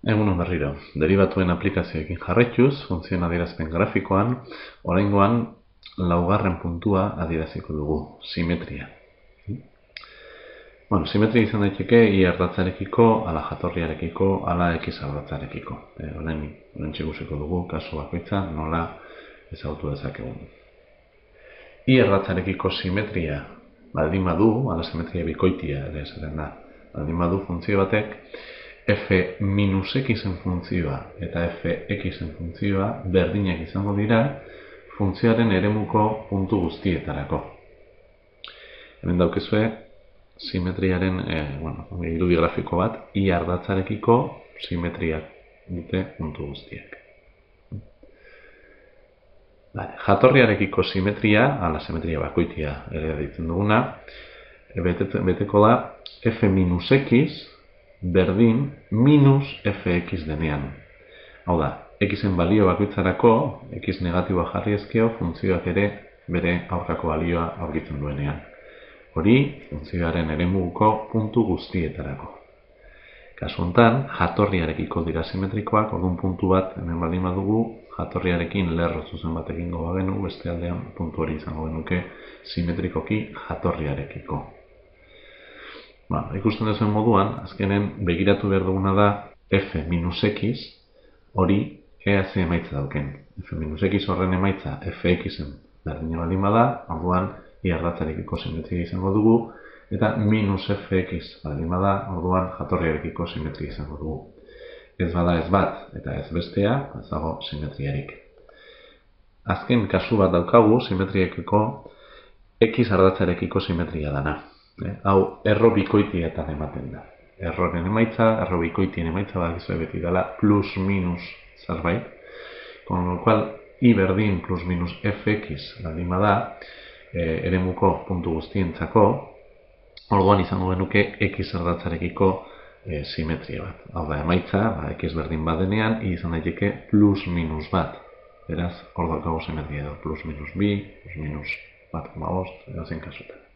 Egunon berriro, deribatuen aplikazioekin jarraituz, funtzioen adierazpen grafikoan, oraingoan laugarren puntua adieraziko dugu, simetria. Simetria izan daiteke i ardatzarekiko, ala jatorriarekiko, ala x ardatzarekiko. Orain ikusiko dugu, kasu bakoitza, nola ezagutu dezakegun. I ardatzarekiko simetria baldin badu, ala simetria bikoitia ere esaten da, baldin badu funtzio batek, f minus x-en funtzioa eta f(x)en funtzioa berdinak izango dira funtzioaren eremuko puntu guztietarako. Hemen daukezue simetriaren irudi grafiko bat, i ardatzarekiko simetriak dute puntu guztiak. Jatorriarekiko simetria, ala simetria bakoitia ere deitzen duguna, beteko da f minus x berdin minus fx denean. Hau da, x-en balio bakoitzarako, x negatiboa jarri ezkeo, funtzioak ere bere aurkako balioa aurkitzen duenean. Hori, funtzioaren eremuko puntu guztietarako. Kasu honetan, jatorriarekiko dira simetrikoak, orduan puntu bat hemen baldin badugu, jatorriarekin lerro zuzen bat egingo bagenu, beste aldean puntu hori izango genuke simetrikoki jatorriarekiko. Ikusten duzuen moduan, azkenen begiratu behar duguna da f minus x hori ea ze emaitza dauken. F minus x horren emaitza fx-en berdina baldin bada, orduan i ardatzarekiko simetria izango dugu, eta minus fx baldin bada, orduan jatorriarekiko simetria izango dugu. Ez bada ez bat eta ez bestea, ez dago simetriarik. Azken kasu bat daukagu simetriekiko x ardatzarekiko simetria dana. Hau erro bikoitietan ematen da. Erroren emaitza, erro bikoitien emaitza badakizue beti dela plus minus zerbait, con lo cual i berdin plus minus fx baldin bada eremuko puntu guztientzako, orduan izango genuke x ardatzarekiko simetria bat. Hau da emaitza, x berdin badenean, i izan daiteke plus minus bat. Beraz, hor daukagu simetria edo plus minus bi, plus minus bat, edo zen kasutan.